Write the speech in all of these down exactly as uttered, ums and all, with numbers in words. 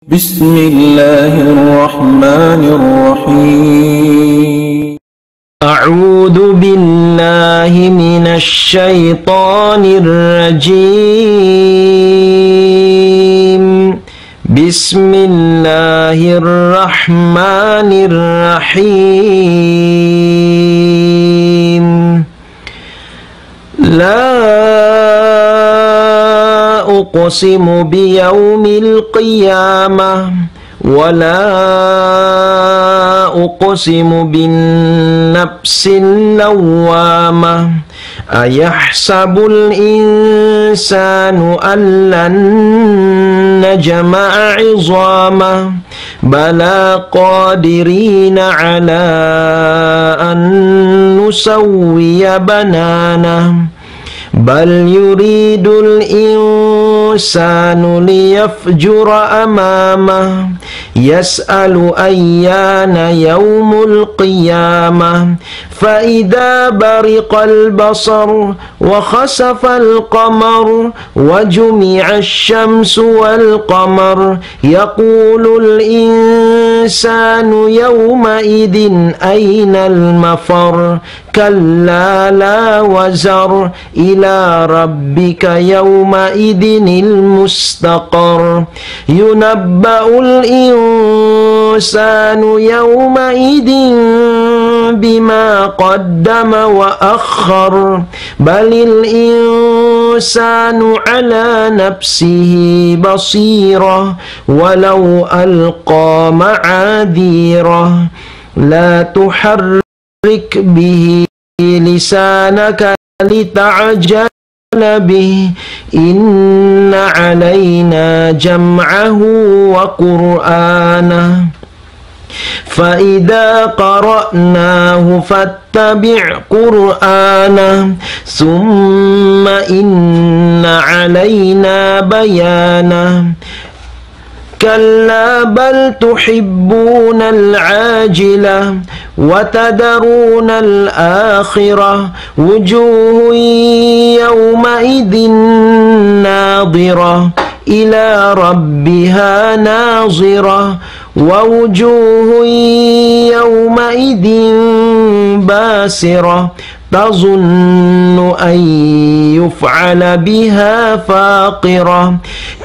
بسم الله الرحمن الرحيم. أعوذ بالله من الشيطان الرجيم. بسم الله الرحمن الرحيم. لا أقسم بيوم القيامة، ولا أقسم بالنفس اللوامة، أيحسب الإنسان أن لن نجمع عظامه، بلى قادرين على أن نسوي بنانه، بل يريد الإنسان ليفجر أمامه، يسأل أيان يوم القيامة، فإذا برق البصر، وخسف القمر، وجمع الشمس والقمر، يقول الإنسان يومئذ أين المفر، كلا لا وزر، إلى ربك يومئذ المستقر، ينبأ الإنسان يومئذ بما قدم وأخر، بل الإنسان على نفسه بصيرة، ولو ألقى معاذيره، لا تحرك به لسانك لتعجل به، إن علينا جمعه وقرآنه، فإذا قرأناه فاتبع قرآنه، ثم إن علينا بيانه، كلا بل تحبون العاجلة، وتذرون الآخرة، وجوه يومئذ ناضرة، إلى ربها ناظرة، ووجوه يومئذ باسرة، تظن أن يفعل بها فاقرة،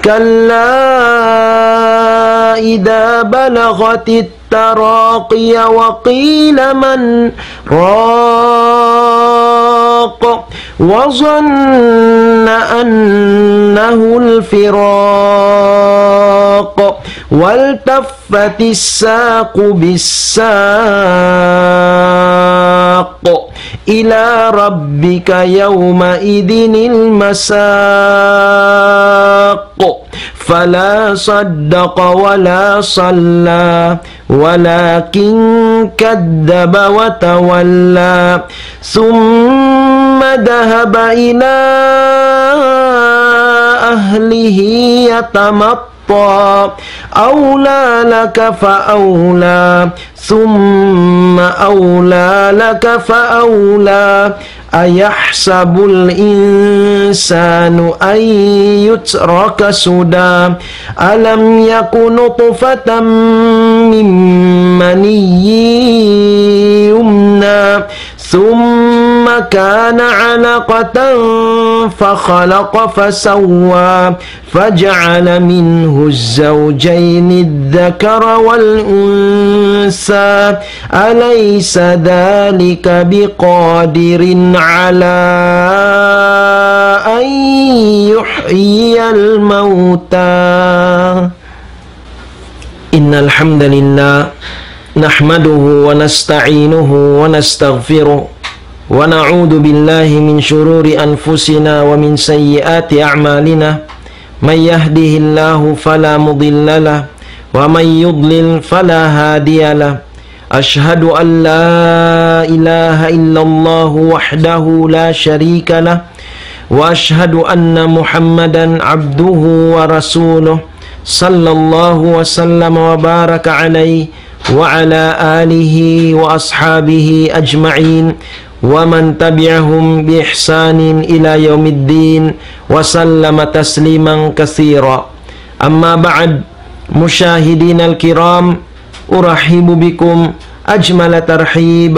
كلا إذا بلغت التراقي، وقيل من راق، وظن أنه الفراق، والتفت الساق بالساق، إلى ربك يومئذ المساق، فلا صدق ولا صلى، ولكن كذب وتولى، ثم ذهب إلى أهله يتمطى، أولى لك فأولى، ثم أولى لك فأولى، أيحسب الإنسان أن يترك سدى، ألم يك نطفة من مني يمنى، ثم كان علقة فخلق فسوى، فجعل منه الزوجين الذكر والأنثى، أليس ذلك بقادر على أن يحيي الموتى؟ إن الحمد لله نحمده ونستعينه ونستغفره، ونعوذ بالله من شرور أنفسنا ومن سيئات أعمالنا. من يهده الله فلا مضل له، ومن يضلل فلا هادي له. أشهد أن لا إله إلا الله وحده لا شريك له، وأشهد أن محمدا عبده ورسوله، صلى الله وسلم وبارك عليه وعلى آله وأصحابه أجمعين، ومن تبعهم بإحسان إلى يوم الدين، وسلم تسليما كثيرا. أما بعد، مشاهدينا الكرام، أرحب بكم أجمل ترحيب.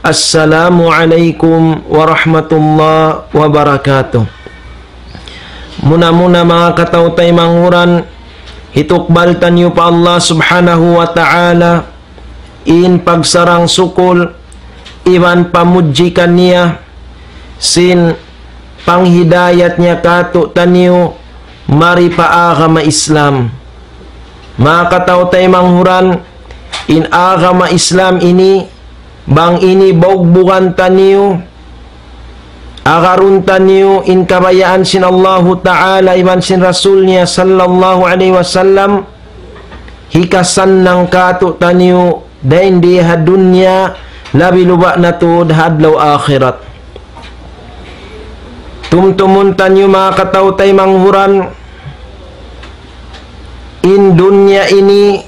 السلام عليكم ورحمة الله وبركاته. Muna-muna, manga kataw-taymanghuran, hitukbal taniyu pa Allah Subhanahu wa Ta'ala in pagsarang sukul iban pamudji kaniya sin panghidayat niya kātu'niyu mari pa agama Islam. Manga kataw-taymanghuran, in agama Islam ini, bang ini baugbugan taniyu, agarun taniyu in kabayaan sin Allahu Ta'ala iban sin Rasul niya sallallahu alayhi wasallam, hikasannang kātu'niyu dayn di ha dunya, labi luba' na tuud ha adlaw akhirat. Tumtumun taniyu, manga kataw-taymanghuran, in dunya ini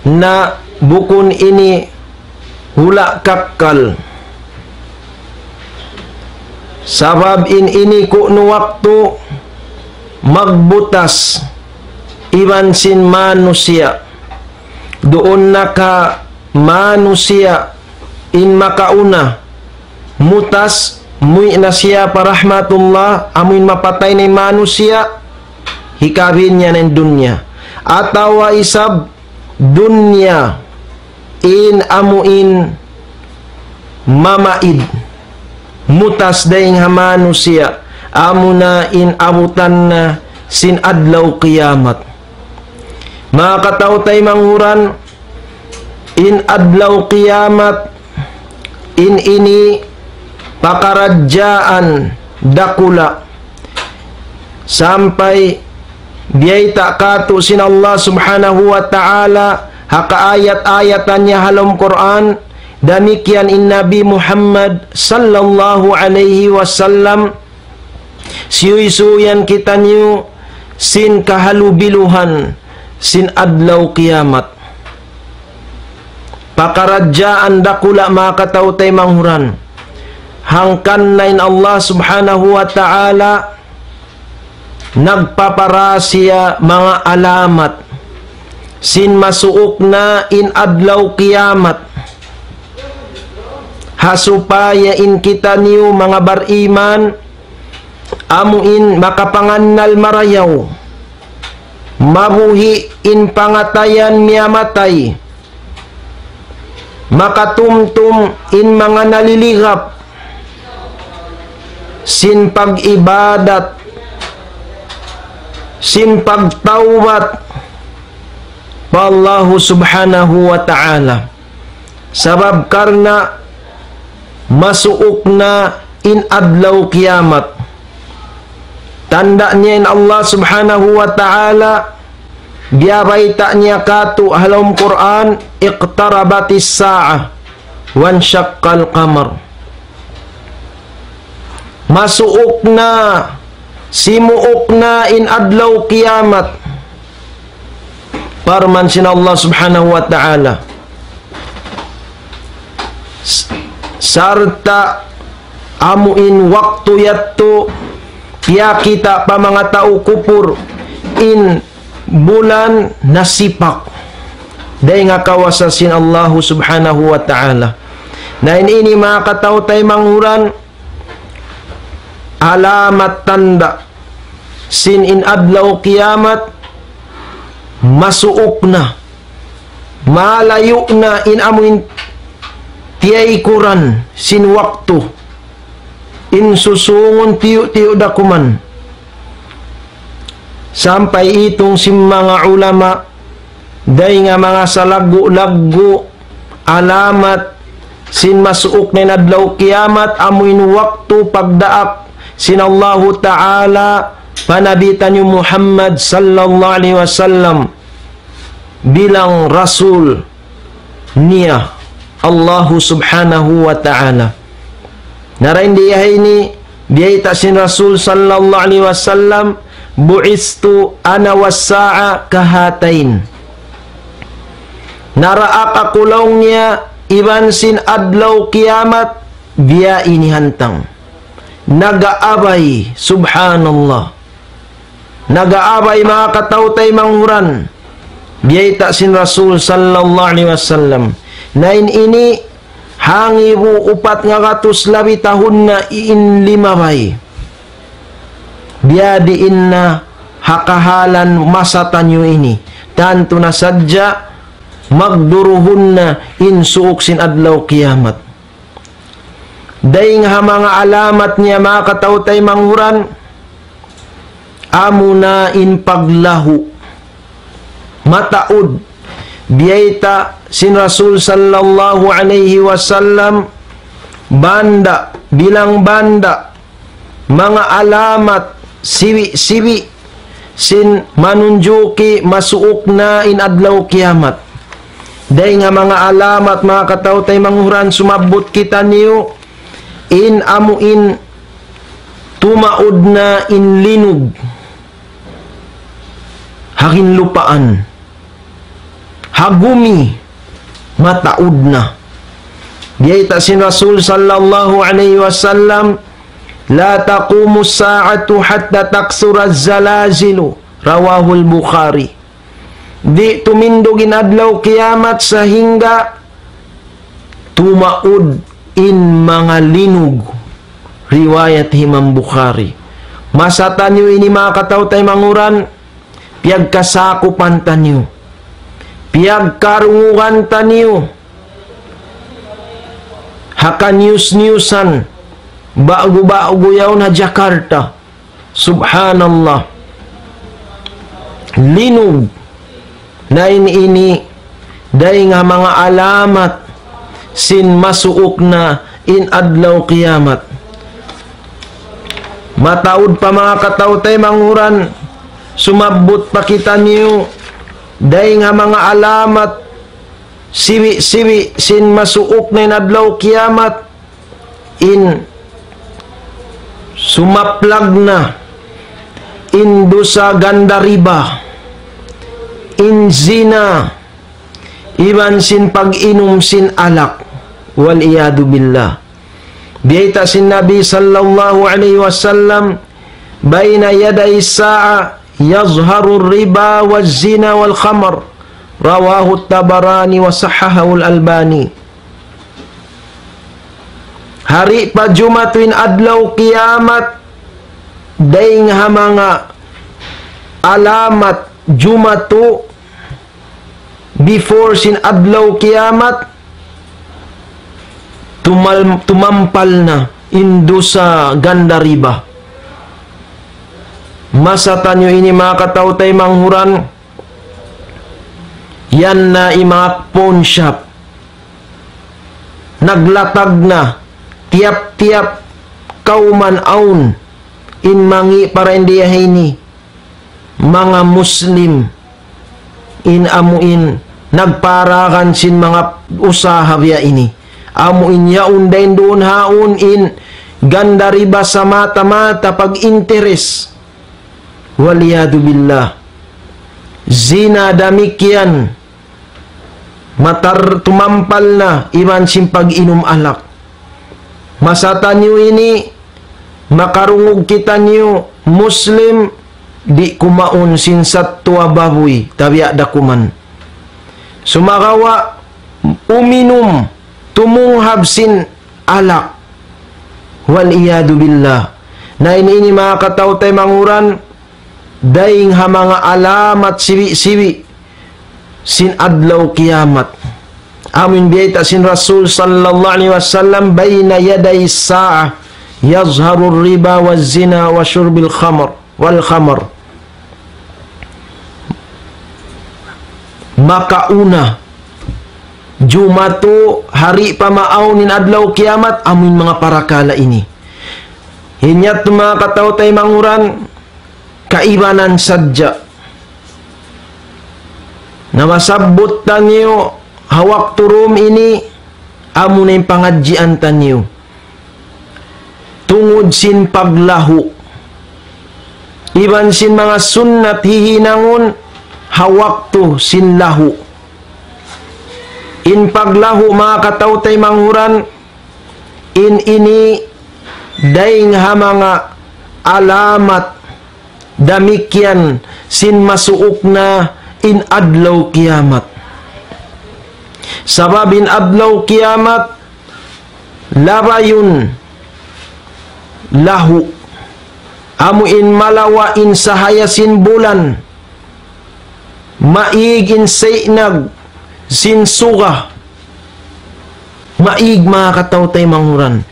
na bukun ini hula' kakkal. Sabab in ini kunu' waktu magbutas iban sin manusiya'. Duun na ka manusiya' in makauna mutas, muwi' na siya pa rahmatullah, amuin mapatay na in manusiya', hikabin niya na in dunya. Atawa isab dunya in amuin mamaid, mutas dayn ha manusiya', amuna in abutan na sin adlaw kiyamat. Manga kataw-taymanghuran, in adlaw kiyamat, in ini pakaradjaan dakula'. Sampay biyayta' kātu' sin Allah Subhanahu wa Ta'ala ha kaayat-ayatan niya ha lawm Qur'an, damikkiyan in Nabi Muhammad sallallahu alayhi wasallam, siyuysuyan kitaniyu sin kahalubiluhan sin adlaw kiyamat. Pakaradjaan dakula', manga kataw-taymanghuran. Hangkan na in Allah Subhanahu wa Ta'ala nagpaparasiya manga alamat sin masuuk na in adlaw kiyamat. Ha supaya in kitaniyu manga bariman, amuin makapangannal marayaw, mabuhi' in pangatayan miyamatay, makatumtum in manga naliligap sin pag-ibadat, sin pagtawbat pa Allahu Subhanahu wa Ta'ala. Sabab karna' masuuk na in adlaw kiyamat. Tanda' niya in Allah Subhanahu wa Ta'ala, biyabayta' niya kātu' ha lawm Qur'an, اقتربت الساعة وانشق القمر. Masuuk na, simuuk na in adlaw kiyamat. Parman sin Allah Subhanahu wa Ta'ala. S-, sarta' amuin waktu yadtu, kiyakita' pa manga tau kupur in bulan nasipak. Dayn ha kawasa sin Allahu Subhanahu wa Ta'ala. Na in ini, manga kataw-taymanghuran, alamat tanda' sin in adlaw kiyamat masuuk na, malayu' na in amuin tiyaykuran sin waktu, in susungun tiyu'-tiyu' da kuman. Sampay itung sin manga ulama, dayn ha manga salaggu'-laggu' alamat sin masuuk na in adlaw kiyamat, amuin waktu pagdaak sin Allahu Ta'ala pa Nabi taniyu Muhammad sallallahu alayhi wasallam bilang rasul niya Allahu Subhanahu wa Ta'ala. Na dayn di ha ini, biyayta' sin Rasul sallallahu alayhi wasallam, بعثت أنا والساعة كهاتين. Naraak aku laung niya iban sin adlaw kiyamat biya' ini hantang. Nag-aabay, subhanallah. Nag-aabay, manga kataw-taymanghuran. Biyayta' sin Rasul sallallahu alayhi wasallam. Na in ini hangibu upat ngagatus labi tahun na in limabay. Biyadiin na ha kahalan masa taniyu ini. Tantu na sadja magduruhun na in suuk sin adlaw kiyamat. Dayng ha manga alamat niya manga kataw-taymanghuran, amuna in paglahu. Mataud, biyayta' sin Rasul sallallahu alayhi wasallam, banda', bilang banda', manga alamat, siwi'-siwi', sin manunjuki masuuk na in adlaw kiyamat. Dayng ha manga alamat, manga kataw-taymanghuran, sumabbut kitaniyu, in amu in tumaud na in linug ha ginlupaan. Ha gumi, mataud na. Biyayta' sin Rasul sallallahu alayhi wasallam, لا تقوم الساعة حتى تكثر الزلازل. رواه البخاري. Di' tumindug in adlaw kiyamat sahingga tumaud in manga linug. Riwayat Imam Bukhari. Masa taniyu ini manga kataw-taymanghuran, piyagkasakupan taniyu. Piyagkarungugan taniyu. Ha kaniyus-niyusan, ba'gu-ba'gu yaun ha Jakarta. Subhanallah. Linug. Na in ini, dayng ha manga alamat sin masuuk na in adlaw kiyamat. Mataud pa manga kataw-taymanghuran, sumabbut pa kitaniyu, dayng ha manga alamat, siwi'-siwi' sin masuuk na in adlaw kiyamat, in sumaplag na in dusa ganda riba, in zina, iban sin pag-inum sin alak. والعياذ بالله. Biyayta' sin Nabi sallallahu alayhi wasallam, بين يدي الساعة يظهر الربا والزنا والخمر. رواه الطبراني وصححه الألباني. Hari pa jumatu in adlaw kiyamat, dayng ha manga alamat jumatu before sin adlaw kiyamat, tumal-, tumampal na in dusa ganda riba. Masa taniyu ini manga kataw-taymanghuran, yan na in manga pawn shop. Naglatag na, tiyap-tiyap kawman awn in mangi' para India ini, manga Muslim, in amu in nagparagan sin manga usaha biya' ini. Amu in yaun dayn duun haun in ganda riba sa mata-mata pag-interes. والعياذ بالله. Zina damikkiyan. Matar tumampal na iban sin pag-inum alak. Masa taniyu ini, makarungug kitaniyu Muslim, di' kumaun sin sattuwa babuy, tabiya' da kuman. Sumagawa', uminum, tumunghab sin alak. والعياذ بالله. Na in ini manga kataw-taymanghuran, dayng ha manga alamat siwi'-siwi' sin adlaw kiyamat. Amu in biyayta' sin Rasul sallallahu alayhi wasallam, بين يدي الساعة يظهر الربا والزنا وشرب الخمر والخمر. Makauna, jumatu, hari pa maawn in adlaw kiyamat, amu in manga parakala' ini. Hāti niya manga kataw-taymanghuran, kaibanan sadja. Na masabbut taniyu, ha waktu dum ini, amu na in pangadjian taniyu. Tungud sin paglahu. Iban sin manga sunnat hihinangun ha waktu sin lahu. In paglahu manga kataw-taymanghuran, in ini dayng ha manga alamat damikkiyan sin masuuk na in adlaw kiyamat. Sabab in adlaw kiyamat, labayun lahu. Amu in malawa' in sahaya sin bulan. Maig in saynag sin suga. Maig, manga kataw-taymanghuran.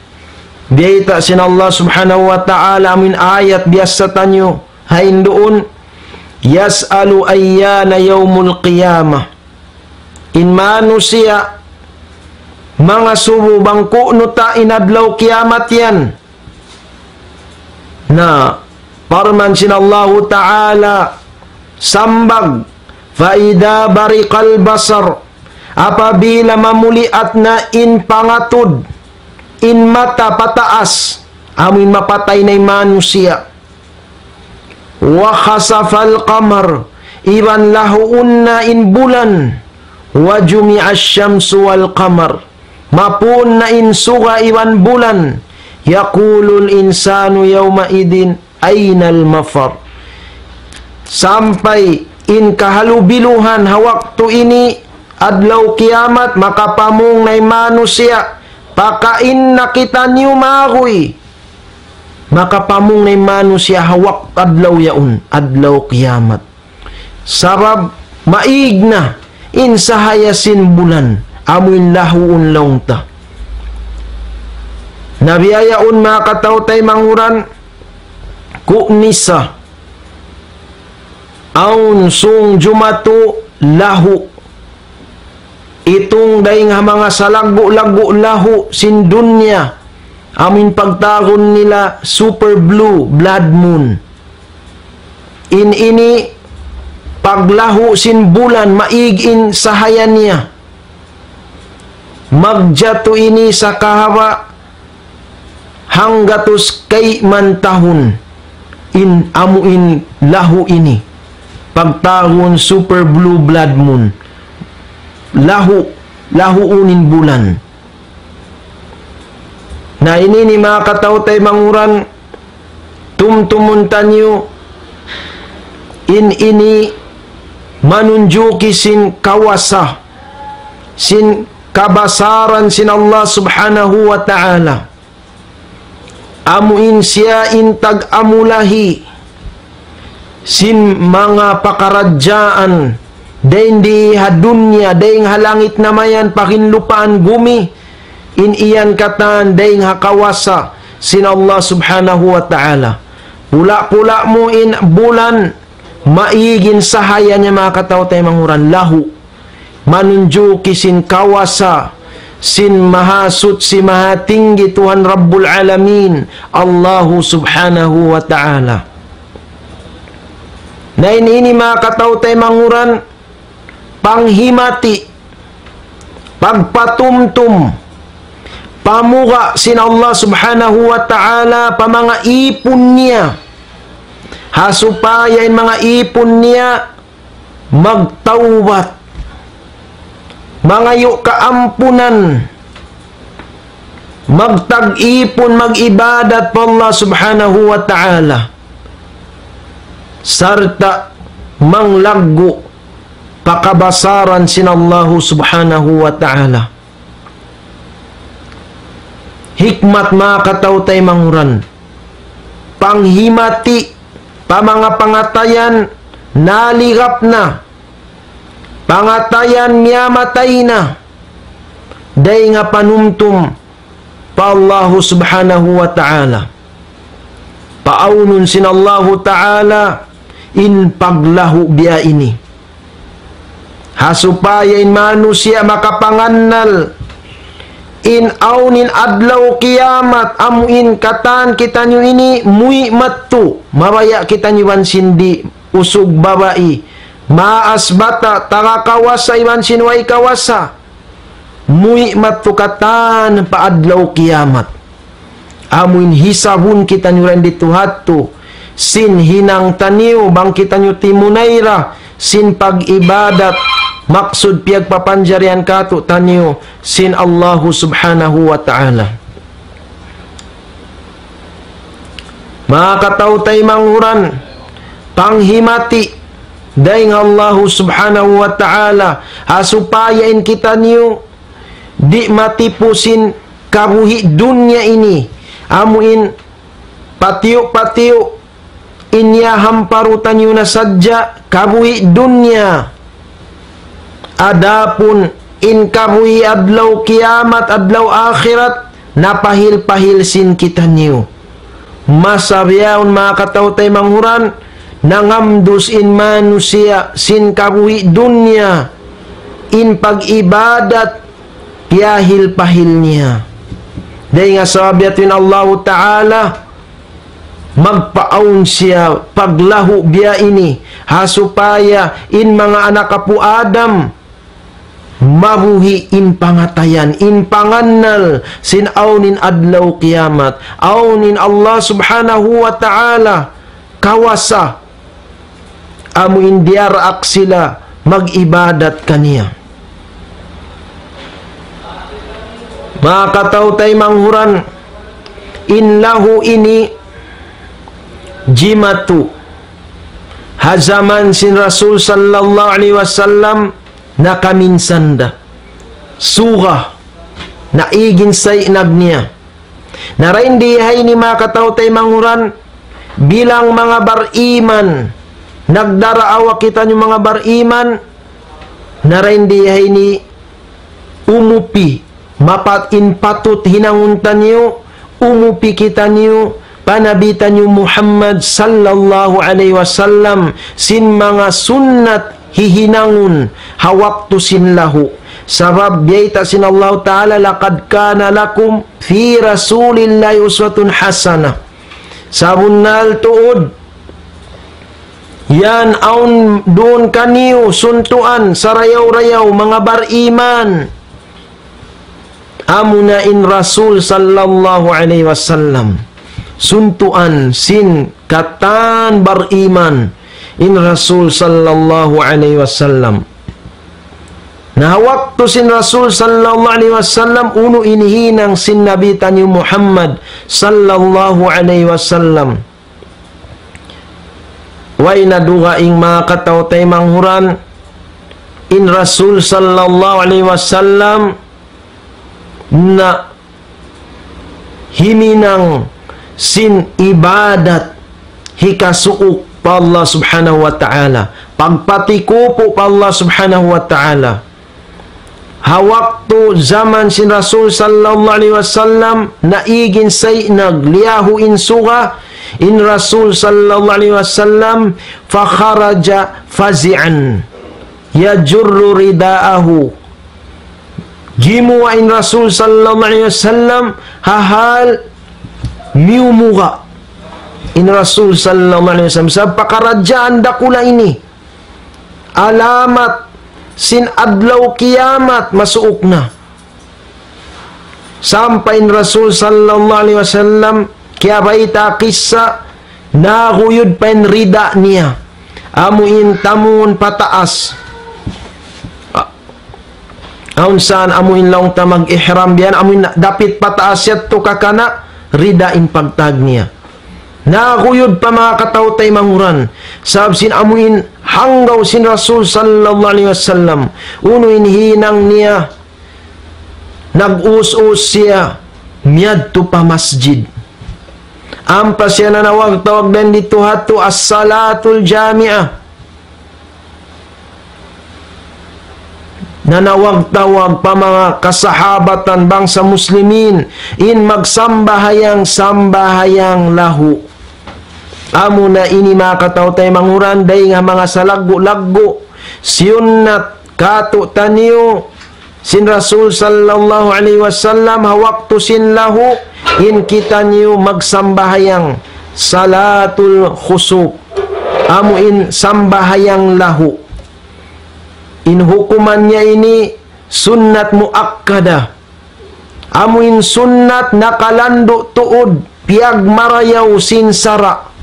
Biyayta' sin Allah Subhanahu wa Ta'ala amu in ayat biyassa taniyu ha induun, يسأل أيان يوم القيامة. In manusiya' mangasubu bang ku'nu ta in adlaw kiyamat yan. Na, parman sin Allahu Ta'ala, sambag, فإذا برق البصر, apabila mamuliat na in pangatud, in mata pataas, amu in mapatay na in manusiya'. وخسف القمر, iban lahuun na in bulan, وجمع الشمس والقمر, mapun na in suga iban bulan, يقول الإنسان يومئذ أين المفر. Sampay in kahalubiluhan ha waktu ini, adlaw kiyamat, makapamung na in manusiya', pakain na kitaniyu maguy. Makapamung na in manusiya' ha waktu adlaw yaun, adlaw kiyamat. Sabab maig na in sahaya sin bulan, amu in lahuun laung ta. Na biya' yaun, manga kataw-taymanghuran, ku'nisa, awn sung jumatu lahu. Itung dayn ha manga salaggu'-laggu' lahu sin dunya, amu in pagtawagun nila super blue blood moon. In ini paglahu sin bulan, maig in sahaya niya. Magjatu ini sakahaba' hanggatus kayman tahun in amu in lahu ini. Pagtawagun super blue blood moon. Lahu, lahuun in bulan. Na ini ini manga kataw-taymanghuran, tumtumun taniyu, in ini manunjuki sin kawasa, sin kabasaran sin Allah Subhanahu wa Ta'ala. Amu in siya in tag-amulahi sin manga pakaradjaan, dayn di ha dunya, dayn ha langit namayan, pa ginlupaan gumi, in iyan katan dayn ha kawasa sin Allah Subhanahu wa Ta'ala. Pula-pula mu in bulan, maig in sahaya niya, manga kataw-taymanghuran, lahu. Manunjuki sin kawasa sin Mahasuchi, Mahatinggi Tuhan Rabbul Alamin, Allahu Subhanahu wa Ta'ala. Na in ini, manga kataw-taymanghuran, panghimati, pagpatumtum, pamuga' sin Allah Subhanahu wa Ta'ala pa manga īpun niya. Ha supaya in manga īpun niya magtawbat, mangayu' kaampunan, magtag-ipun, mag-ibadat pa Allah Subhanahu wa Ta'ala, sarta' manglaggu' pa kabasaran sin Allahu Subhanahu wa Ta'ala. Hikmat, manga kataw-taymanghuran, panghimati pa manga pangatayan naligap na, pangatayan miyamatay na, dayn ha panumtum pa Allahu Subhanahu wa Ta'ala. Paawnun sin Allahu Ta'ala in paglahu biya' ini. Ha supaya in manusiya' makapangannal in awn in adlaw kiyamat, amu in katan kitaniyu ini muwi' madtu, mabaya' kitaniyu iban sin di' usug babai, maas bata', taga kawasa iban sin way kawasa. Muwi' madtu katan pa adlaw kiyamat. Amu in hisabun kitaniyu dayn didtu hadtu sin hinang taniyu bang kitaniyu timunay ra sin pag-ibadat, maksud piyagpapanjarihan kātu'niyu sin Allahu Subhanahu wa Ta'ala. Manga kataw-taymanghuran, panghimati dayn ha Allahu Subhanahu wa Ta'ala, ha supaya in kitaniyu di' matipu sin kabuhi' dunya ini, amu in patiyu'-patiyu' in yahamparutan niyu na sadja kabuhi' dunya. Adapun in kabuhi' adlaw kiyamat, adlaw akhirat, napahil-pahil sin kitaniyu. Masa bihaun, manga kataw-taymanghuran, nangamdus in manusiya' sin kabuhi' dunya, in pag-ibadat, piyahil-pahil niya. Dayn ha sabab yadtu in Allahu Ta'ala, magpaawn siya paglahu biya' ini, ha supaya in manga anak apu' Adam, mabuhi' in pangatayan, in pangannal sin awn in adlaw kiyamat, awn in Allah Subhanahu wa Ta'ala kawasa, amu in diyaraak sila mag-ibadat kaniya. Manga kataw-taymanghuran, in lahu ini jimatu ha jaman sin Rasul sallallahu alayhi wasallam nakaminsan da. Suga, naig in saynag niya. Na dayn di ha ini, manga kataw-taymanghuran, bilang manga bariman, nagdaraawa kitaniyu manga bariman, na dayn di ha ini umupi, mapat in patut hinangun taniyu, umupi kitaniyu pa Nabi taniyu Muhammad sallallahu alayhi wasallam sin manga sunnat hihinangun ha waktu sin lahu. Sabab biyayta' sin Allahu Ta'ala, لقد كان لكم في رسول الله أسوة حسنة. Sabunnal tuud, yan awn duun kaniyu suntuan sarayaw-rayaw manga bariman. Amuna in Rasul sallallahu alayhi wasallam. Suntuan sin katan bariman in Rasul sallallahu alayhi wasallam. Na ha waktu sin Rasul sallallahu alayhi wasallam, unu in hinang sin Nabi taniyu Muhammad sallallahu alayhi wasallam? Way na dugaing, manga kataw-taymanghuran, in Rasul sallallahu alayhi wasallam na himinang sin ibadat hikasuuk pa Allah Subhanahu wa Ta'ala, pagpatikupu pa Allah Subhanahu wa Ta'ala. Ha waktu jaman sin Rasul sallallahu alayhi wasallam, naig in saynag, liyahu in suga, in Rasul sallallahu alayhi wasallam, فخرج فزعا يجر رداءه. Gimuwa' in Rasul sallallahu alayhi wasallam ha hal miyumuga'. In Rasul sallallahu alayhi wasallam, sa pakaradjaan dakula' ini. Alamat sin adlaw kiyamat masuuk na. Sampay in Rasul sallallahu alayhi wasallam kiyabayta' kissa, naguyud pa in rida niya. Amu in tamun pataas. A-, awn saan amu in laung ta mag-ihram biyan, amu in dapit pataas yadtu kakana', rida in pagtag niya. Naguyud pa, manga kataw-taymanghuran. Sabab sin amu in hanggaw sin Rasul sallallahu alayhi wasallam. Unu in hinang niya? Nag-us-us siya miyadtu pa masjid. Ampa siya nanawag-tawag dayn didtu ha yadtu as-salatul jami'ah. Nanawag-tawag pa manga kasahabatan bangsa muslimin in magsambahayang sambahayang lahu. Amuna ini, manga kataw-taymanghuran, dayn ha manga salaggu'-laggu' siyunnat kātu'niyu sin Rasul sallallahu alayhi wasallam ha waktu sin lahu, in kitaniyu magsambahayang salatul khusuf. Amu in sambahayang lahu. In hukuman niya ini sunnat muakkada. Amu in sunnat nakalandu' tuud, piyagmarayaw sin sara'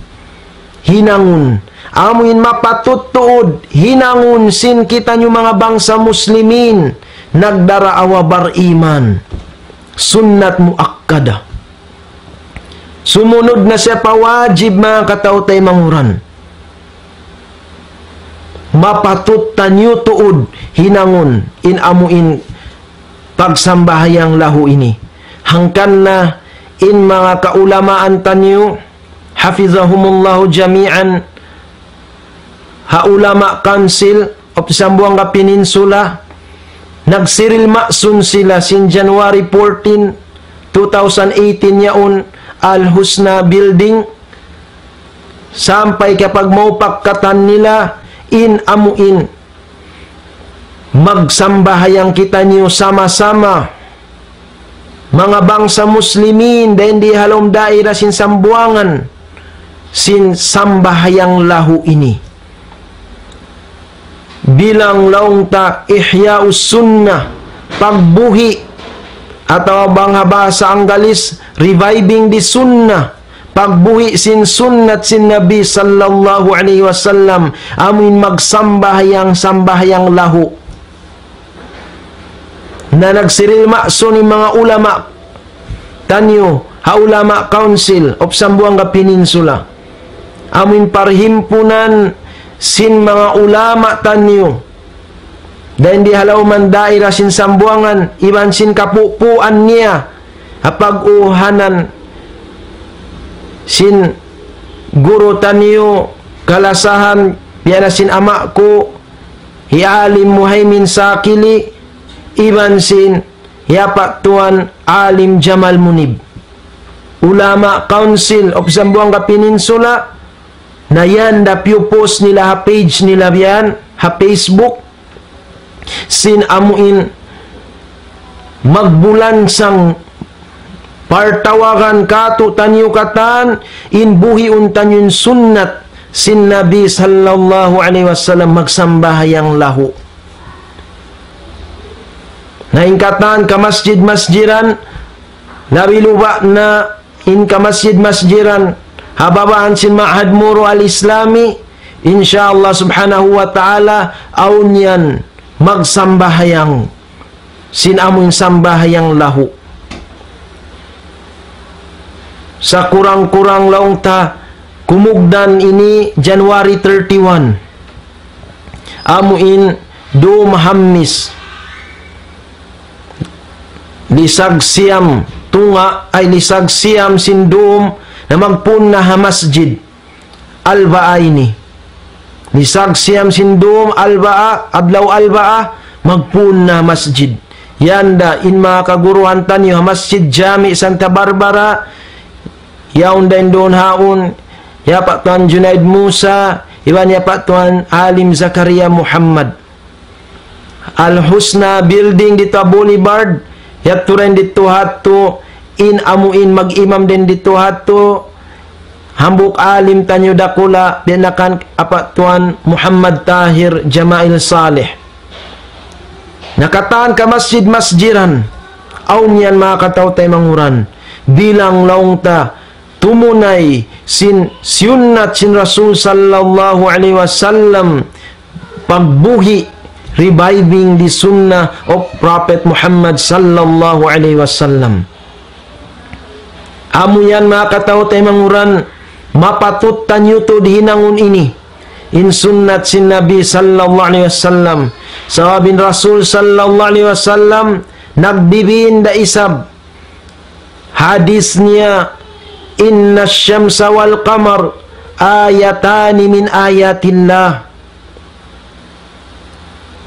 hinangun. Amu in mapatut tuud hinangun sin kitaniyu manga bangsa muslimin, nagdaraawa bariman. Sunnat muakkada. Sumunud na siya pa wajib, manga kataw-taymanghuran. mapatut taniyu tuud hinangun in amu in pagsambahayang lahu ini. Hangkan na in manga kaulamaan taniyu, hafizahumullahu jami'an, ha Ulama Council of Zamboanga Peninsula, nagsiril masun sila sin January fourteen, two thousand eighteen yaun, Al Husna Building, sampay kapag maupak katan nila in amu in magsambahayang kitaniyu sama-sama manga bangsa Muslimin dayn di ha lawm daira sin Sambuwangan sin sambahayang lahu ini. Bilang laung ta Ihya'us Sunnah, pagbuhi', atawa bang ha bahasa Anggalis, reviving the Sunnah, pagbuhi' sin sunnat sin Nabi sallallahu alayhi wasallam, amuin magsambahayang-sambahayang lahu. Na nagsiril masun in manga ulama taniyu ha Ulama Council of Zamboanga Peninsula. Amuin parhimpunan sin manga ulama taniyu dayn di ha lawm daira sin Sambuwangan, iban sin kapupuan niya ha pag-uhanan sin guru taniyu kalasahan, biya' na sin ama' ku, hi Alim Muhaymin Sakili, iban sin hi Apa' Tuan Alim Jamal Munib. Ulama Council of Zamboanga Peninsula, na yan da piyu-post nila ha page nila yan, ha Facebook, sin amuin magbulansang partawagan katu' taniyu katan, in buhiun taniyu in sunnat sin Nabi sallallahu alayhi wasallam magsambahayang lahu. Na in katan kamasjid-masjiran, labi luba' na in kamasjid-masjiran ha babahan sin Ma'had Moro Al-Islami, insya Allah subhanahu wa ta'ala, awn yan magsambahayang sin amuin sambahayang lahu. Sakurang-kurang laung ta, kumugdan ini January thirty-one. Amuin dum Hammis. Lisag siyam tunga', ay, lisag siyam sin dum na magpun na ha masjid Alba'a ini. Lisag siyam sin dum Alba'a, adlaw Alba'a, magpun na masjid. Yan da in manga kaguruhan taniyu ha Masjid Jami Santa Barbara, yaun da in duun haun, hi Apa' Tuan Junaid Musa, iban hi Apa' Tuan Alim Zakaria Muhammad. Al Husna Building didtu ha Boulevard, yadtu da in didtu hadtu, in amuin mag-imam da in didtu hadtu, hambuuk alim taniyu dakula', biya' na kan Apa' Tuan Muhammad Tahir Jamail Saleh. Na katan kamasjid-masjiran, awn yan manga kataw-taymanghuran, bilang laung ta, tumunay sin sunnat sin Rasul sallallahu alayhi wasallam, pagbuhi', reviving the sunnah of Prophet Muhammad sallallahu alayhi wasallam. Amu yan manga kataw-taymanghuran, mapatut taniyu tuud hinangun ini, in sunnat sin Nabi sallallahu alayhi wasallam. Sabab in Rasul sallallahu alayhi wasallam, nagbibin da isab hadis niya, إن الشمس والقمر آيتان من آيات الله.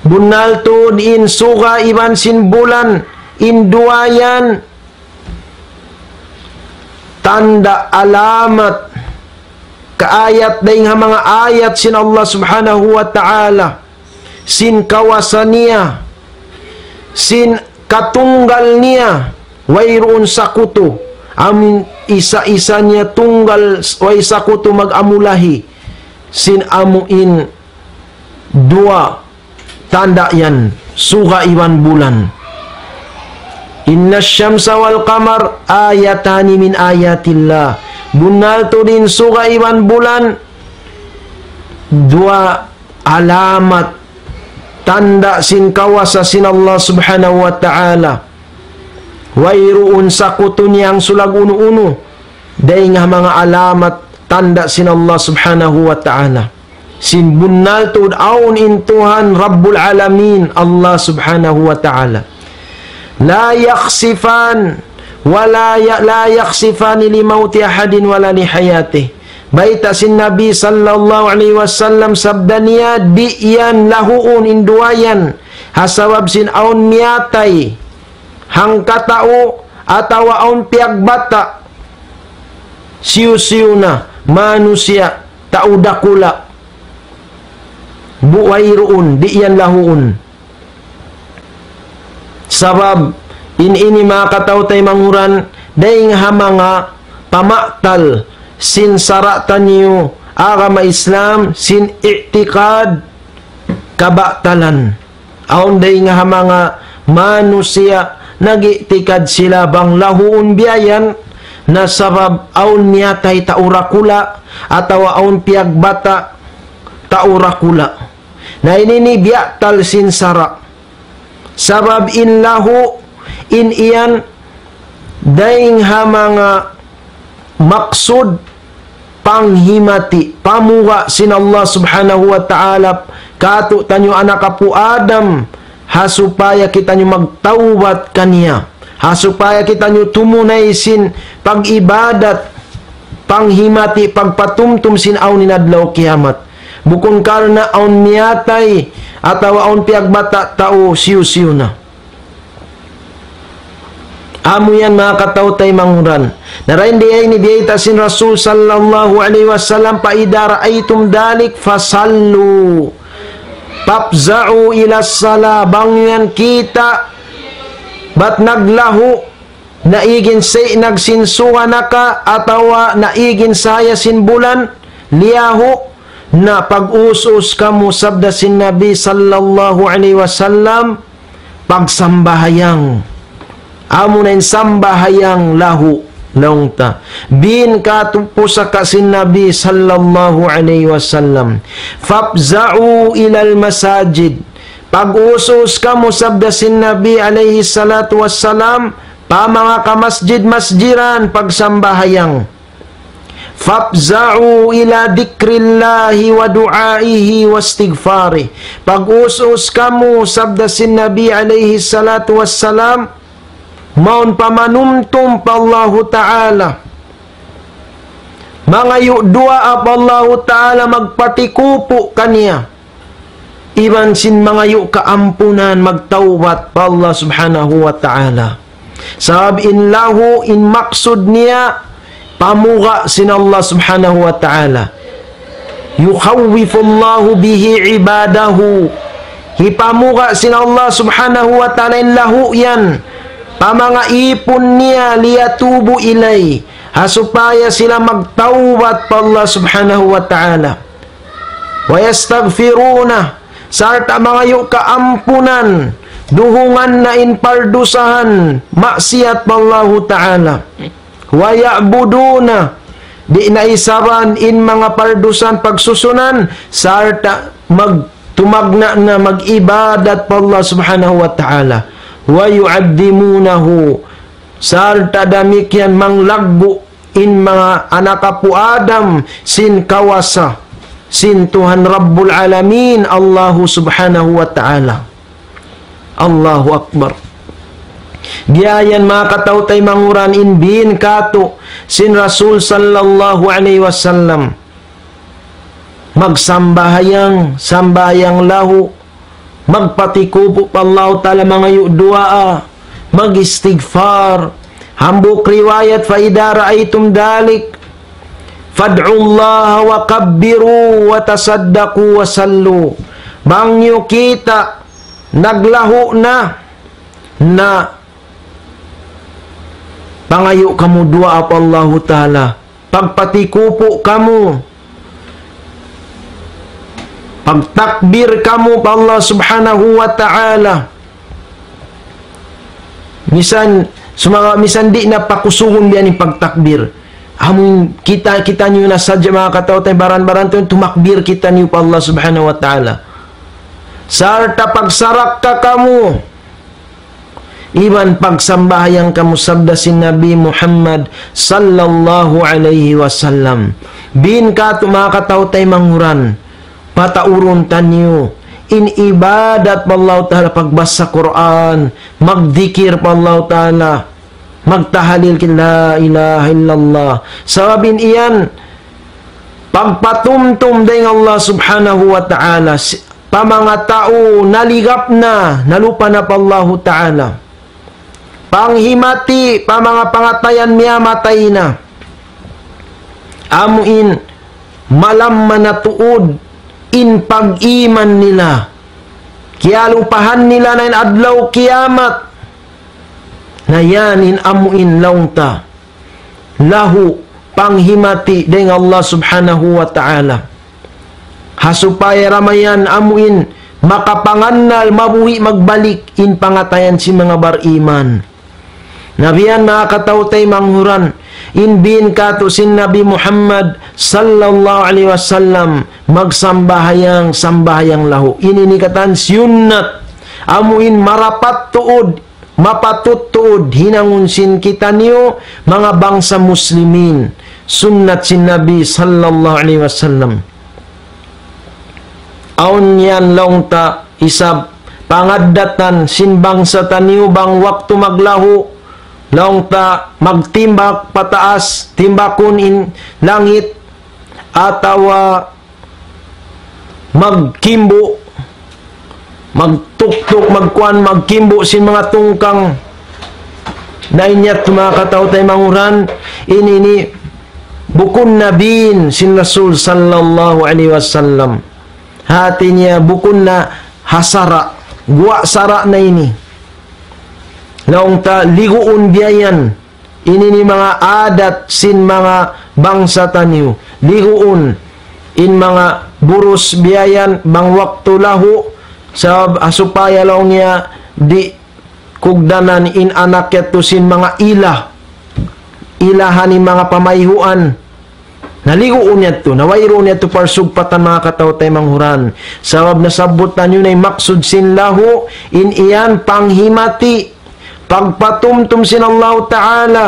Bunnal tuud in suga iban sin bulan, in duwa yan tanda', alamat, kaayat dayn ha manga ayat sin Allah Subhanahu wa Ta'ala, sin kawasa niya, sin katunggal niya, wayruun sakutu, amuin isa-isa niya tunggal, way sakutu mag-amulahi, sin amuin duwa tanda' yan, suga iban bulan. إن الشمس والقمر آيتان من آيات الله. Bunnal tuud in suga iban bulan, duwa alamat, tanda' sin kawasa sin Allah Subhanahu wa Ta'ala. Wayruun sakutu niya hangsulag unu-unu dayn ha manga alamat, tanda' sin Allah Subhanahu wa Ta'ala. Sin bunnal tuud awn in Tuhan Rabbul Alamin, Allah Subhanahu wa Ta'ala. لا يخسفان ولا ي- لا يخسفان لموت أحد ولا لحياته. Bayta' sin Nabi sallallahu alayhi wasallam, sabda niya, di' yan lahuun in duwa yan, ha sabab sin awn miyatay hangkatau atawa awn piyagbata', hisiyu-siyu na, manusiya', tau dakula', bu- wayruun, di' yan lahuun. Sabab in ini, manga kataw-taymanghuran, dayng ha manga pamatal sin sara' taniyu agama Islam, sin i'tikad kabatalan. Awn dayng ha manga manusiya' nag-i'tikad sila bang lahuun biya' yan, na sabab awn miyatay tau dakula' atawa awn piyagbata' tau dakula'. Na ini ini biya' tal sin sara'. Sabab in lahu, in iyan, dayng ha manga maksud panghimati, pamuga' sin Allah Subhanahu wa Ta'ala kātu'niyu anak apu' Adam, ha supaya kitaniyu magtawbat kaniya, ha supaya kitaniyu tumunay sin pag-ibadat, panghimati, pagpatumtum sin awn in adlaw kiyamat. Bukun karna' awn miyatay atawa awn piyagbata' tau, hisiyu-siyu na. Amu yan, manga kataw-taymanghuran. Na dayn di ini biyayta' sin Rasul sallallahu alayhi wasallam, فإذا رأيتم ذلك فصلوا فافزعوا إلى الصلاة. Bang yan kita' bat naglahu, naig in sī' nagsinsuga na ka, atawa naig in sahaya sin bulan liyahu', na pag-us-us kamu, sabda sin Nabi sallallahu alayhi wasallam, pagsambahayang. Amu na in sambahayang lahu, laung ta. Bīn kātu' pusaka sin Nabi sallallahu alayhi wasallam, فافزعوا إلى المساجد. Pag-us-us kamu, sabda sin Nabi alayhi salatu wassalam, pa manga kamasjid-masjiran pagsambahayang. فافزعوا إلى ذكر الله ودعائه واستغفاره. Pag-us-us kamu, sabda sin Nabi alayhi salatu wassalam, mawn pamanumtum pa Allahu Ta'ala, mangayu' duwaa pa Allahu Ta'ala, magpatikupu' kaniya, iban sin mangayu' kaampunan, magtawbat pa Allah Subhanahu wa Ta'ala. Sabab in lahu, in maksud niya, pamuga' sin Allah Subhanahu wa Ta'ala. يخوف الله به عباده. Hipamuga' sin Allah Subhanahu wa Ta'ala in lahu yan pa manga īpun niya, ليتوبوا إليه, ha supaya sila magtawbat pa Allah Subhanahu wa Ta'ala. ويستغفرونه, sarta' mangayu' kaampunan, duhungan na in pardusahan, maksiyat pa Allahu Ta'ala. ويعبدونه, di' na isaban in manga pardusahan pagsusunan, sarta' mag-, tumagna' na mag-ibadat pa Allah Subhanahu wa Ta'ala. ويعظمونه, sarta' damikkiyan manglaggu' in manga anak apu' Adam sin kawasa sin Tuhan Rabbul Alamin, Allahu Subhanahu wa Ta'ala. Allahu Akbar. Biya' yan, manga kataw-taymanghuran, in bīn kātu' sin Rasul sallallahu alayhi wasallam. Magsambahayang, sambahayang lahu, magpatikupu' pa Allahu Ta'ala, mangayu' duwaa, mag-istighfar. Hambuuk riwayat, فإذا رأيتم ذلك فادعوا الله وكبروا وتصدقوا وصلوا. Bang niyu kita' naglahu na, na pangayu' kamu duwaa pa Allahu Ta'ala, pagpatikupu' kamu, pagtakbir kamu pa Allah Subhanahu wa Ta'ala. Misan, sumagawa' misan di' na pakusugun biya' ini pagtakbir. Amun kita, kitaniyu na sadja, manga kataw-taymanghuran, baran-baran tuud tumakbir kitaniyu pa Allah Subhanahu wa Ta'ala. Sarta' pagsarakka kamu, iban pagsambahayang kamu, sabda sin Nabi Muhammad sallallahu alayhi wasallam. Bīn kātu', manga kataw-taymanghuran, pataurun taniyu in ibadat pa Allah Ta'ala, pagbasa Qur'an, magdikir pa Allah Ta'ala, magtahalil kita, la ilaha illallah. Sabab in iyan, pagpatumtum dayn Allah Subhanahu wa Ta'ala, si-, pa manga tau naligap na, nalupa na pa Allahu Ta'ala. Panghimati pa manga pangatayan miyamatay na. Amu in malamma na tuud in pag-iman nila. Kiyalupahan nila na in adlaw kiyamat. Na yan in amu in laung ta. Lahu panghimati dayn Allah Subhanahu wa Ta'ala. Ha supaya da mayan amu in makapangannal mabuhi' magbalik in pangatayan sin manga bariman. Na biya' yan manga kataw-taymanghuran, in biin katu' sin Nabi Muhammad sallallahu alayhi wasallam magsambahayang, sambahayang lahu. Ini in katan sunnat, amu in marapat tuud, mapatut tuud hinangun sin kitaniyu manga bangsa Muslimin, sunnat sin Nabi sallallahu alayhi wasallam. Awn yan laung ta isab pangaddatan sin bangsa taniyu bang waktu maglahu, laung ta magtimbak pataas, timbakun in langit, atawa magkimbu', magtuktuk, magkuan, magkimbu' sin manga tungkang. Na in yadtu manga kataw-taymanghuran, ini, ini bukun na biin sin Rasul sallallahu alayhi wasallam. Hati niya bukun na ha sara', guwa' sara' na ini. Laung ta liguun biya' yan. Ini in manga adat sin manga bangsa taniyu. Liguun in manga burus biya' yan bang waktu lahu, sabab, ah, supaya laung niya di' kugdanan in anak yadtu sin manga ilah. Ilahan in manga pamayhuan. Na liguun yadtu, na wayruun yadtu parsugpatan manga kataw-taymanghuran. Sabab nasabbut taniyu na in maksud sin lahu, in iyan panghimati, pagpatumtum sin Allah Ta'ala,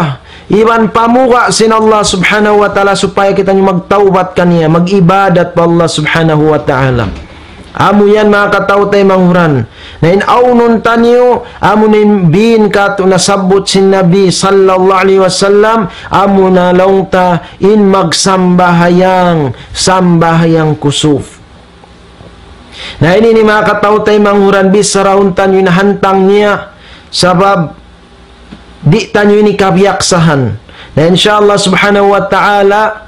iban pamuga' sin Allah Subhanahu wa Ta'ala supaya kitaniyu magtawbat kaniya, mag-ibadat pa Allah Subhanahu wa Ta'ala. Amu yan manga kataw-taymanghuran. Na in awnun taniyu, amu na in biin katu' nasabbut sin Nabi sallallahu alayhi wasallam, amu na laung ta in magsambahayang, sambahayang kusuf. Na ini in manga kataw-taymanghuran, bichara taniyu in hantang niya, sabab di' taniyu ini kabiyaksahan. Na insya Allah Subhanahu wa Ta'ala,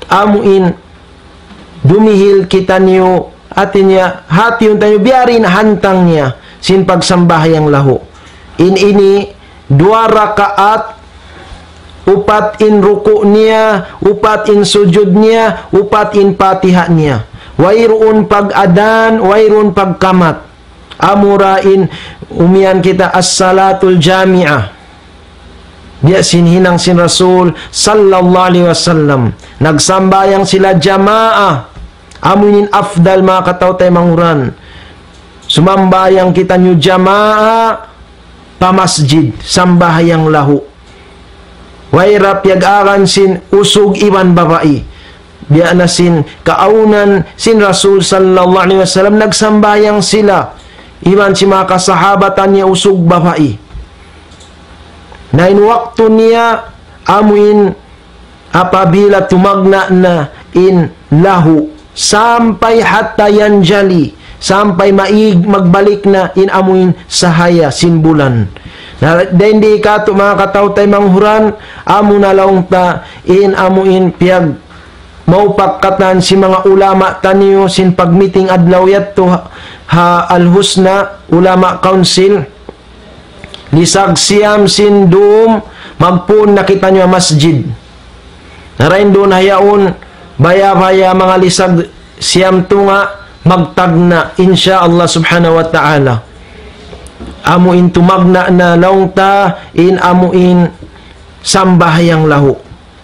amu in dumihil kitaniyu, hati niya, hati taniyu biya' diin hantang niya sin pagsambahayang lahu. In ini duwa rakaat, upat in ruku' niya, upat in sujud niya, upat in Fatiha niya. Wayruun pag-adhan, wayruun pagkamat. Amura in umiyan kita as-salatul jami'ah. Biya' sin hinang sin Rasul sallallahu alayhi wasallam. Nagsambahayang sila jamaa. Amu ini in afdal manga kataw-taymanghuran. Sumambahayang kitaniyu jamaa pa masjid, sambahayang lahu. Way da piyag-agan sin usug iban babai. Biya' na sin kaawnan sin Rasul sallallahu alayhi wasallam, nagsambahayang sila iban sin manga kasahabatan niya usug babai. Na in waktu niya amu in apabila tumagna' na in lahu, sampay hatta yanjali, sampay maig magbalik na in amu in sahaya sin bulan. Na dayn di katu' manga kataw-taymanghuran, amu na laung ta in amu in piyagmaupak katan sin manga ulama taniyu sin pagmiting adlaw yadtu ha, ha Al-Husna Ulama Council. Lisag siyam sin dum, magpun na kitaniyu ha masjid. Na dayn duun ha yaun, baya-baya manga lisag siyam tunga', magtagna', insya Allah subhanahu wa ta'ala. Amu in tumagna' na laung ta, in amu in sambahayang lahu.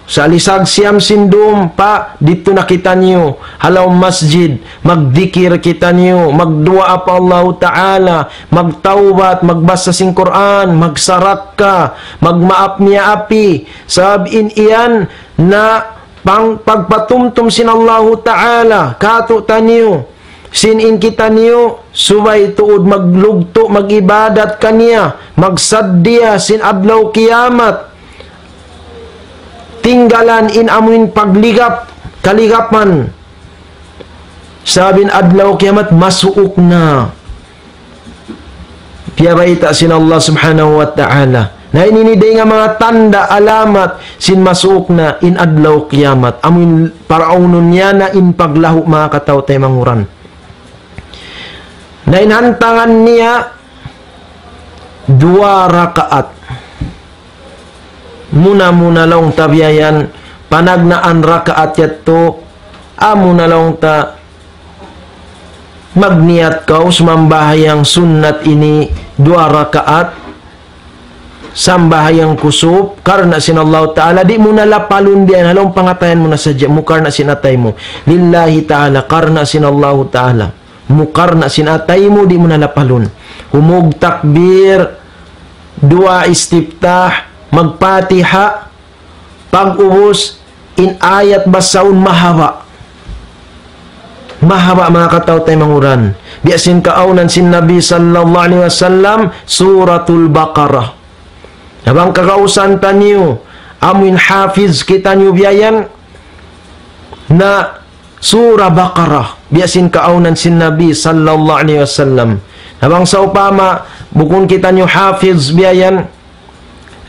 Sa' lisag siyam sin dum pa, didtu na kitaniyu, ha lawm masjid, magdikir kitaniyu, magduwaa pa Allahu Ta'ala, magtawbat, magbasa sin Qur'an, magsarakka, magmaap miyaapi. Sabab in yan na pang pagpatumtum sin Allahu Ta'ala katu'taniyu, sin in kitaniyu subay tuud maglugtu', mag-ibadat kaniya, magsaddiya sin adlaw kiyamat, tinggalan in amuin pagligap, kaligapan. Sabab in adlaw kiyamat masuuk na. Piyabayta' sin Allah Subhanahu wa Ta'ala. Na ini ini dayn ha manga tanda' alamat sin masuuk na in adlaw kiyamat. Amuin paraunun niya na in paglahu' manga kataw-taymanghuran. Na in hantangan niya duwa rakaat. Muna-muna laung ta biya' yan, panagnaan rakaat yadtu, amu na laung ta magniyat kaw sumambahayang sunnat ini duwa rakaat, sambahayang kusuf, karna' sin Allahu Ta'ala, di' mu na lapalun biya' yan, ha lawm pangatayan mu na sadja, mu karna' sin atay mu. Lillahi Ta'ala, karna' sin Allahu Ta'ala. Mu karna' sin atay mu, di' mu na lapalun. Humug takbir, duwa istiftah, magpatiha, pag-ubus, in ayat basahun mahaba'. Mahaba' manga kataw-taymanghuran. Biya' sin kaawnan sin Nabi sallallahu alayhi wasallam, Suratul Baqarah. Na bang kagausan taniyu, amuin hafiz kitaniyu biya' yan, na Surah Baqarah, biya' sin kaawnan sin Nabi sallallahu alayhi wasallam. Na bang sawpama, bukun kitaniyu hafiz biya' yan,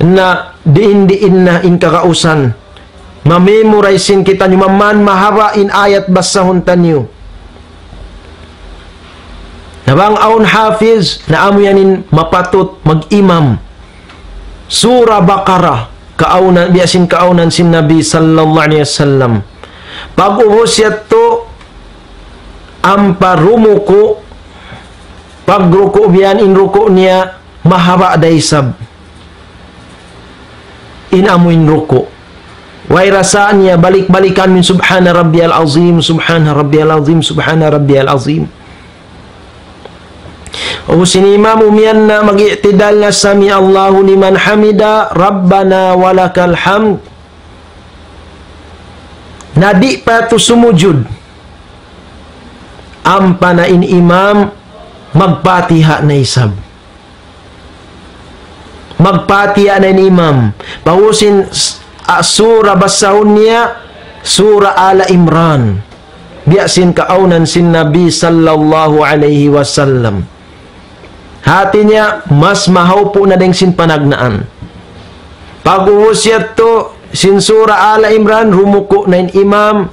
na diin-diin na in kagausan. Ma-memorize sin kitaniyu, maman mahaba' in ayat basahun taniyu. Na bang awn hafiz, na amu yan in mapatut mag-imam. Surah Baqarah, kaawnan, biya' sin kaawnan sin Nabi sallallahu alayhi wasallam. Pag-ubus yadtu, ampa rumuku', pagruku' biya' yan in ruku' niya, mahaba' da isab. In amuin ruku'. Way rasa niya balik-balikan mu in Subhana Rabbiyal Azim, Subhana Rabbiyal Azim, Subhana Rabbiyal Azim. Ubus in imam umiyan na mag-i'tidal na, "Sami Allahu liman hamida, Rabbana walakal hamd." Na di' pa yadtu sumujud. Ampa na in imam magpatiha na isab. Magpatiha na in imam. Pag-ubus in s-, a, surah basahun niya, Surah Ala Imran. Biya' sin kaawnan sin Nabi sallallahu alayhi wasallam. Hati niya, mas mahawpu' na dayn sin panagnaan. Pag-ubus yadtu, sin Surah Ala Imran, rumuku' na in imam,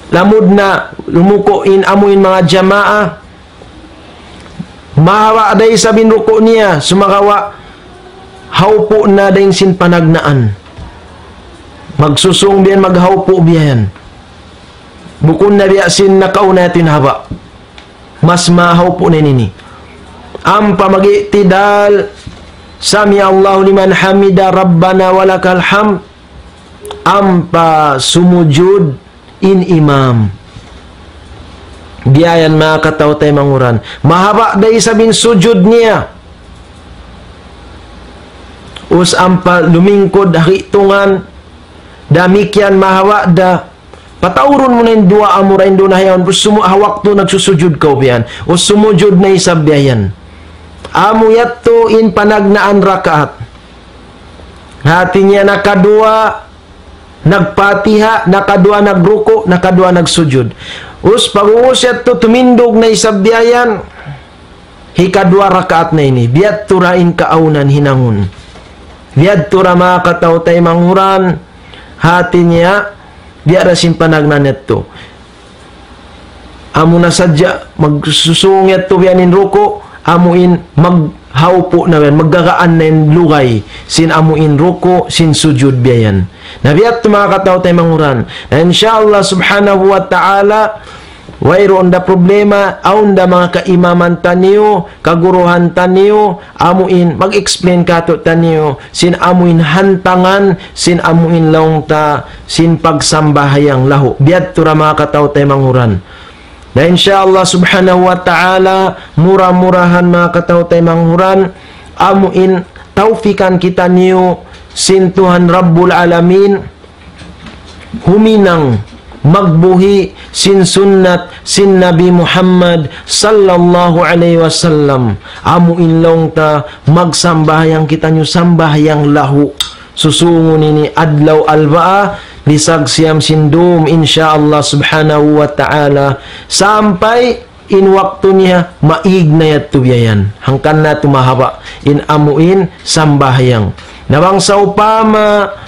lamud na, rumuku' in amuin manga jamaa, mahaba' da isab in ruku' niya, sumagawa' hawpu' na dayn sin panagnaan. Magsusung biya' yan, maghawpu' biya' yan. Bukun na biya' sin nakauna yadtu in haba'. Mas mahawpu' na ini. Ampa mag-i'tidal, "Sami Allahu liman hamida, Rabbana walakal hamd." Ampa sumujud in imam. Biya' yan manga kataw-taymanghuran. Mahaba' da isab in sujud niya. Ubus ampa lumingkud ha hitungan, damikkiyan mahaba' da. Pataurun mu na in duwaa mu dayn duun ha yaun, ubus sumu-, ha waktu nagsusujud kaw biya' yan. Ubus sumujud na isab biya' yan. Amu yadtu in panagnaan rakaat. Hati niya nakaduwa, nagpatiha, nakaduwa nagruku', nakaduwa nagsujud. Ubus pag-ubus yadtu tumindug na isab biya' yan. Hikaduwa rakaat na ini. Biya' tuud in kaawnan hinangun. Biya' tuud manga kataw-taymanghuran. Hati niya, biya' da sin panagnaan yadtu. Amu na sadja, magsusung yadtu biya' yan in ruku', amu in maghawpu' na biya' yan, maggagaan na in lugay, sin amu in ruku', sin sujud biya' yan. Na biya' tuud manga kataw-taymanghuran. Na insya Allah subhanahu wa ta'ala, wayruun da problema, awn da manga kaimaman taniyu, kaguruhan taniyu, amuin mag-explain kātu'niyu sin amuin hantangan, sin amuin laung ta, sin pagsambahayang lahu. Biya' tuud manga kataw-taymanghuran. Na insya Allah subhanahu wa ta'ala, mura-murahan manga kataw-taymanghuran, amuin tawfikan kitaniyu sin Tuhan Rabbul Alamin, huminang magbuhi' sin sunnat sin Nabi Muhammad sallallahu alayhi wasallam. Amu in laung ta magsambahayang kitaniyu sambahayang lahu. Susungun ini adlaw Arbaa, lisag siyam sin dum, insya Allah subhanahu wa ta'ala. Sampay in waktu niya, maig na yadtu biya' yan. Hangkan na tumahaba in amu in sambahayang. Na bang sawpama,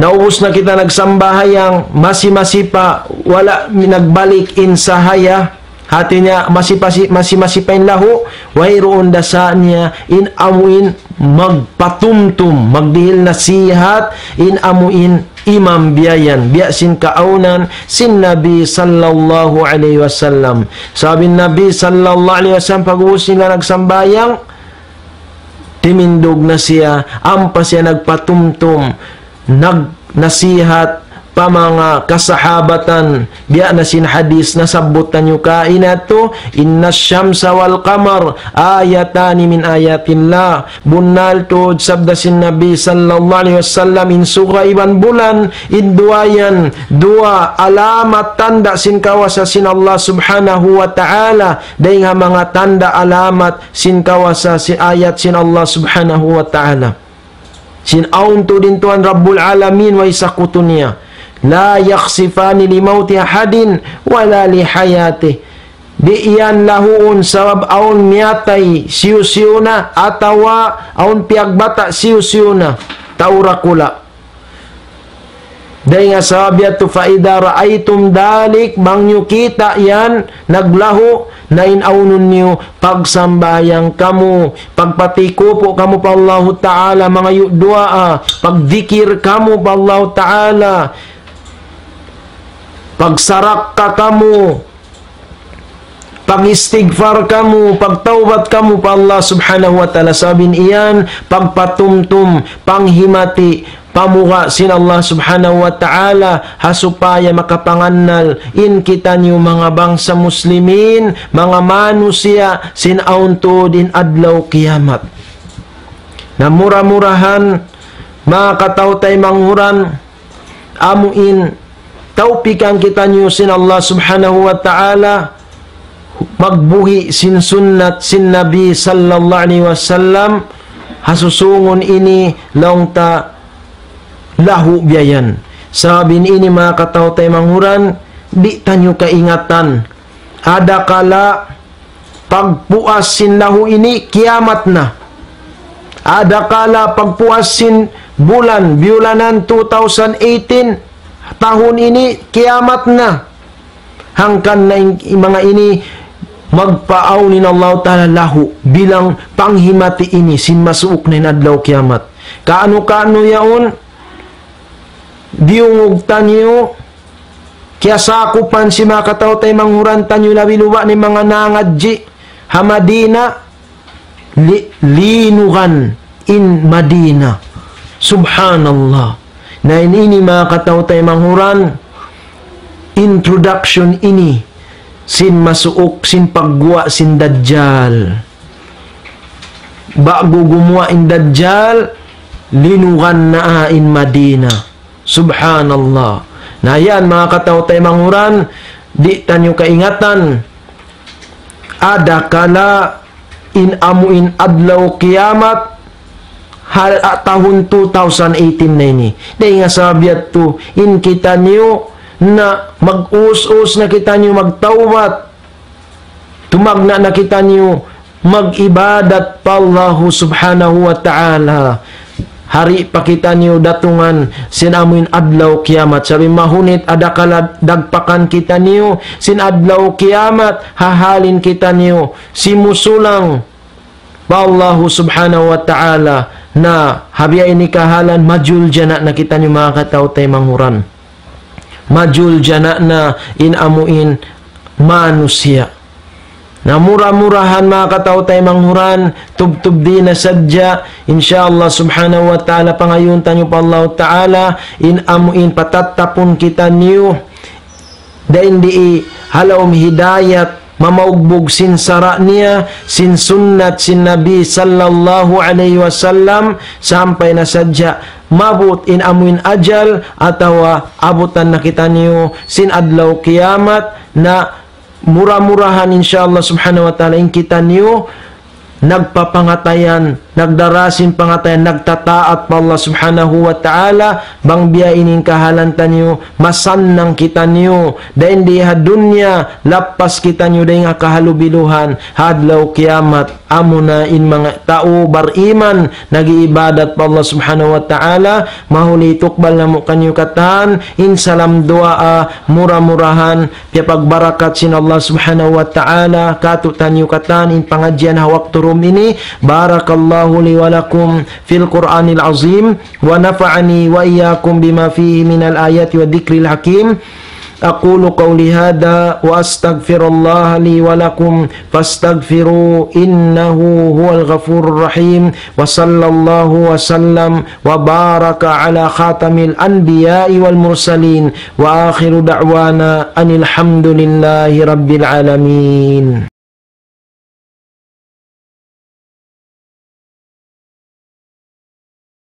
naubus na kita nagsambahayang, masi-masi pa, wala' nagbalik in sahaya, hati niya, masi-masi, masi-masi pa in lahu, wayruun da sa niya, in amu in magpatumtum, magdihil nasihat, in amu in imam biya' yan, biya' sin kaawnan sin Nabi sallallahu alayhi wasallam. Sabab in Nabi sallallahu alayhi wasallam, pag'ubus nila nagsambahayang, timindug na siya, ampa siya nagpatumtum, nagnasihat pa manga kasahabatan, biya' na sin hadis nasabbut taniyu kaina yadtu, إن الشمس والقمر آيتان من آيات الله. Bunnal tuud sabda sin Nabi sallallahu alayhi wasallam, in suga iban bulan, in duwa yan, duwa alamat tanda' sin kawasa sin Allah subhanahu wa ta'ala, dayn ha manga tanda' alamat sin kawasa sin ayat sin Allah subhanahu wa ta'ala. Sin awn tuud in Tuhan Rabbul Alamin, way sakutu niya. لا يخسفان لموت أحد ولا لحياته. Di' yan lahuun sabab awn miyatay hisiyu-siyu na, atawa awn piyagbata' hisiyu-siyu na. Tau dakula'. Dayn ha sabab yadtu, فإذا رأيتم ذلك, bang niyu kita' yan, naglahu, na in awnun niyu, pagsambahayang kamu, pagpatikupu' kamu pa Allahu Ta'ala, mangayu' duwaa, pagdikir kamu pa Allahu Ta'ala, pagsarakka kamu, pag-istigfar kamu, pagtawbat kamu pa Allah Subhanahu wa Ta'ala. Sabab in yan, pagpatumtum, panghimati, pamuga' sin Allah Subhanahu wa Ta'ala, ha supaya makapangannal in kitaniyu manga bangsa Muslimin, manga manusiya' sin awn tuud in adlaw kiyamat. Na mura-murahan, manga kataw-taymanghuran, amu in tawpikan kitaniyu sin Allah Subhanahu wa Ta'ala, magbuhi' sin sunnat sin Nabi sallallahu alayhi wasallam, ha susungun ini laung ta lahu biya' yan. Sabab in ini manga kataw-taymanghuran, di' taniyu kaingatan. Adakala pagpuas sin lahu ini, kiyamat na. Adakala pagpuas sin bulan, biyulanan two thousand eighteen, tahun ini, kiyamat na. Hangkan na in, in manga ini, magpaawn in Allah Ta'ala lahu, bilang panghimati ini, sin masuuk na in adlaw kiyamat. Kaanu-kaanu yaun, diyungug taniyu, kiyasakupan sin manga kataw-taymanghuran taniyu labi luba' na in manga nangadji' ha Madina, li-, linugan in Madina. Subhanallah. Na in ini manga kataw-taymanghuran, introduction ini sin masuuk sin pagguwa' sin Dajjal. Ba'gu gumuwa' in Dajjal, linugan na in Madina. Subhanallah. Na yan, manga kataw-taymanghuran, di' taniyu kaingatan. Adakala in amu in adlaw kiyamat, hal, ah, tahun two thousand eighteen na ini. Dayn ha sabab yadtu, in kitaniyu na mag-us-us na kitaniyu magtawbat. Tumagna' na kitaniyu mag-ibadat pa Allahu Subhanahu wa Ta'ala. Di' pa kitaniyu datungan sin amu in adlaw kiyamat. Sabab mahunit adakala dagpakan kitaniyu sin adlaw kiyamat, ha hal in kitaniyu simusulang pa Allahu Subhanahu wa Ta'ala, na ha biya' ini kahalan, majuljana' na kitaniyu manga kataw-taymanghuran. Majuljana' na in amu in manusiya'. Na mura-murahan manga kataw-taymanghuran, tubtub di na sadja, insya Allah Subhanahu wa Ta'ala, pangayuun taniyu pa Allah Ta'ala, in amu in patattapun kitaniyu, dayn di ha lawm hidayat, mamaugbug sin sara' niya, sin sunnat sin Nabi sallallahu alayhi wasallam, sampay na sadja maabut in amuin ajal, atawa abutan na kitaniyu sin adlaw kiyamat, na mura-murahan, insya Allah subhanahu wa ta'ala, in kitaniyu nagpapangatayan, nagdara sin pangatayan, nagtataat pa Allah subhanahu wa ta'ala, bang biya' ini in kahalan taniyu, masannang kitaniyu, dayn di ha dunya, lappas kitaniyu dayn ha kahalubiluhan, ha adlaw kiyamat, amuna in manga tau bariman, nag-iibadat pa Allah subhanahu wa ta'ala, mahuli tukbal namu' kaniyu katan, in salam duwaa, mura-murahan, piyapagbarakat sin Allah subhanahu wa ta'ala, katu' taniyu katan, in pangadjian ha waktu dum ini, بارك الله لي ولكم في القرآن العظيم، ونفعني وإياكم بما فيه من الآيات والذكر الحكيم. أقول قولي هذا وأستغفر الله لي ولكم فاستغفروه إنه هو الغفور الرحيم. وصلى الله وسلم وبارك على خاتم الأنبياء والمرسلين. وآخر دعوانا أن الحمد لله رب العالمين.